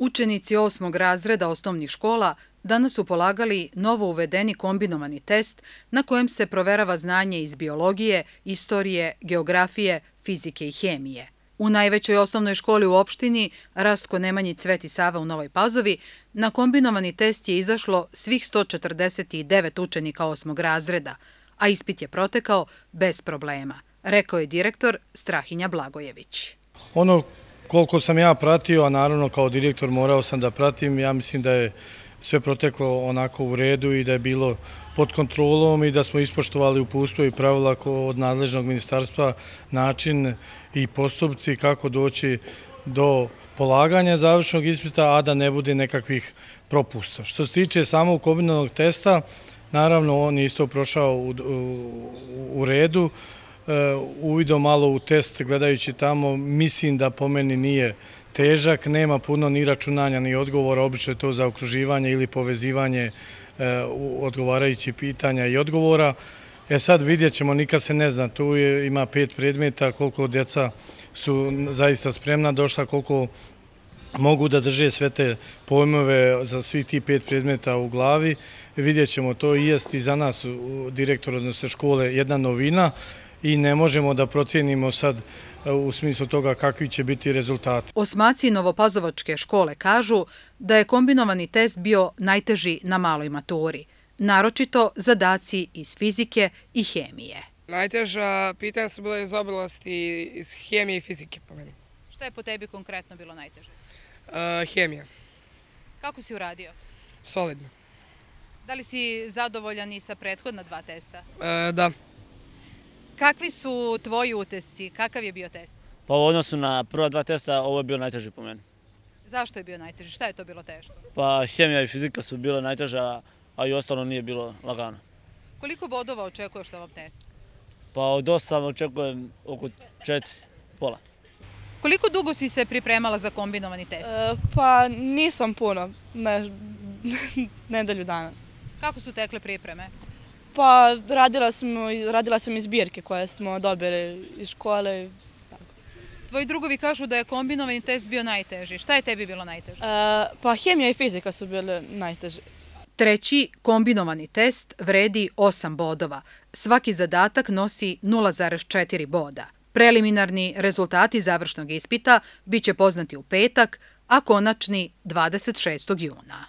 Učenici 8. razreda osnovnih škola danas su polagali novo uvedeni kombinovani test na kojem se proverava znanje iz biologije, istorije, geografije, fizike i hemije. U najvećoj osnovnoj školi u opštini, Rastko Nemanjić Cvet i Sava u Novoj Pazovi, na kombinovani test je izašlo svih 149 učenika 8. razreda, a ispit je protekao bez problema, rekao je direktor Strahinja Blagojević. Koliko sam ja pratio, a naravno kao direktor morao sam da pratim, ja mislim da je sve proteklo onako u redu i da je bilo pod kontrolom i da smo ispoštovali uputstvo i pravila od nadležnog ministarstva način i postupci kako doći do polaganja završnog ispita, a da ne bude nekakvih propusta. Što se tiče samog kombinovanog testa, naravno on je isto prošao u redu. Uvidom malo u test gledajući tamo, mislim da po meni nije težak, nema puno ni računanja ni odgovora, obično je to zaokruživanje ili povezivanje odgovarajućih pitanja i odgovora. Sad vidjet ćemo, nikad se ne zna, tu ima 5 predmeta, koliko djeca su zaista spremna došla, koliko mogu da drže sve te pojmove za svih tih 5 predmeta u glavi. Vidjet ćemo, to i jest i za nas, direktor odnosno škole, jedna novina, i ne možemo da procijenimo sad u smislu toga kakvi će biti rezultati. Osmaci Novopazovačke škole kažu da je kombinovani test bio najteži na maloj maturi, naročito zadaci iz fizike i hemije. Najteža pitanja su bile iz oblasti iz hemije i fizike po meni. Šta je po tebi konkretno bilo najteže? Hemija. Kako si uradio? Solidno. Da li si zadovoljan i sa prethodna 2 testa? Da. Kakvi su tvoji utisci? Kakav je bio test? Pa u odnosu na prva 2 testa ovo je bio najteži po meni. Zašto je bio najteži? Šta je to bilo teško? Pa hemija i fizika su bile najteža, a i ostalo nije bilo lagano. Koliko bodova očekuješ na ovom testu? Pa od 8 očekujem oko 4, pola. Koliko dugo si se pripremala za kombinovani test? Pa nisam puno, nedelju dana. Kako su tekle pripreme? Pa radila sam i zbirke koje smo dobili iz škole. Tvoji drugovi kažu da je kombinovani test bio najteži. Šta je tebi bilo najteže? Pa hemija i fizika su bile najteže. Treći kombinovani test vredi 8 bodova. Svaki zadatak nosi 0,4 boda. Preliminarni rezultati završnog ispita biće poznati u petak, a konačni 26. juna.